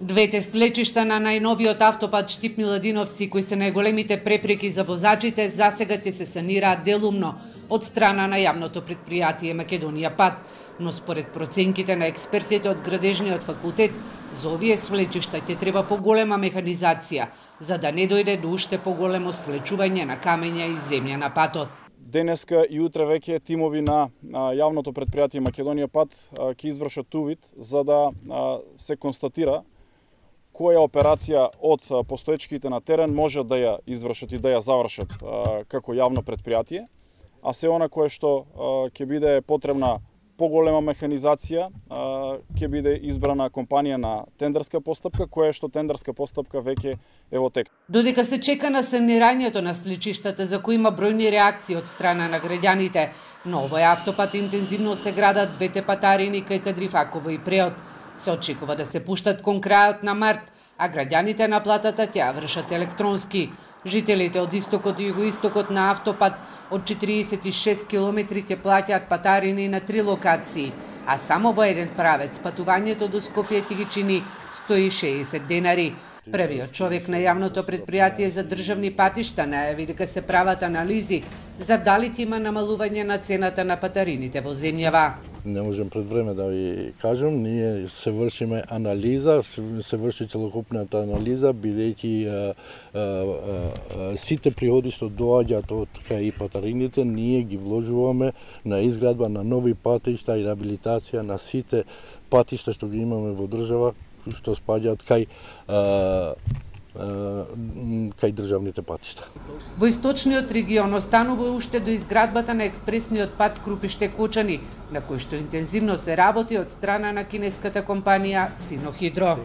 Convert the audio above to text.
Двете сплечишта на најновиот автопат Штип-Миладиновци, кои се најголемите препреки за возачите, засега ќе се санираат делумно од страна на јавното претпријатие Македонија пат, но според проценките на експертите од градежниот факултет, за овие свлечишта ќе треба поголема механизација, за да не дојде до уште поголемо свлечување на камења и земја на патот. Денеска и утре веќе тимови на јавното претпријатие Македонија пат ќе извршат увид за да се констатира која операција од постоечките на терен може да ја извршат и да ја завршат како јавно претпријатие, а се она кое што ќе биде потребна поголема механизација, ќе биде избрана компанија на тендерска постапка, која што тендерска постапка веќе е во тек. Додека се чека на санирањето на сличиштата за кои има бројни реакции од страна на граѓаните, на овој автопат интензивно се градат двете патарини кај Кадрифаково и Преот. Се очекува да се пуштат кон крајот на март, а граѓаните на платата ќе ја вршат електронски. Жителите од истокот и југоистокот на автопат од 46 километри ќе плаќаат патарини на 3 локации, а само во еден правец патувањето до Скопје ќе ги чини 160 денари. Првиот човек на јавното претпријатие за државни патишта најави дека се прават анализи за дали ќе има намалување на цената на патарините во земјава. Не можем пред време да ви кажам, ние се вршиме анализа, се врши целокупната анализа, бидејќи сите приходи што доаѓаат од и патарините, ние ги вложуваме на изградба на нови патишта и реабилитација на сите патишта што ги имаме во држава, што спаѓаат кај државните патишта. Во источниот регион останува уште до изградбата на експресниот пат Крупиште-Кочани, на кој што интензивно се работи од страна на кинеската компанија Синохидро.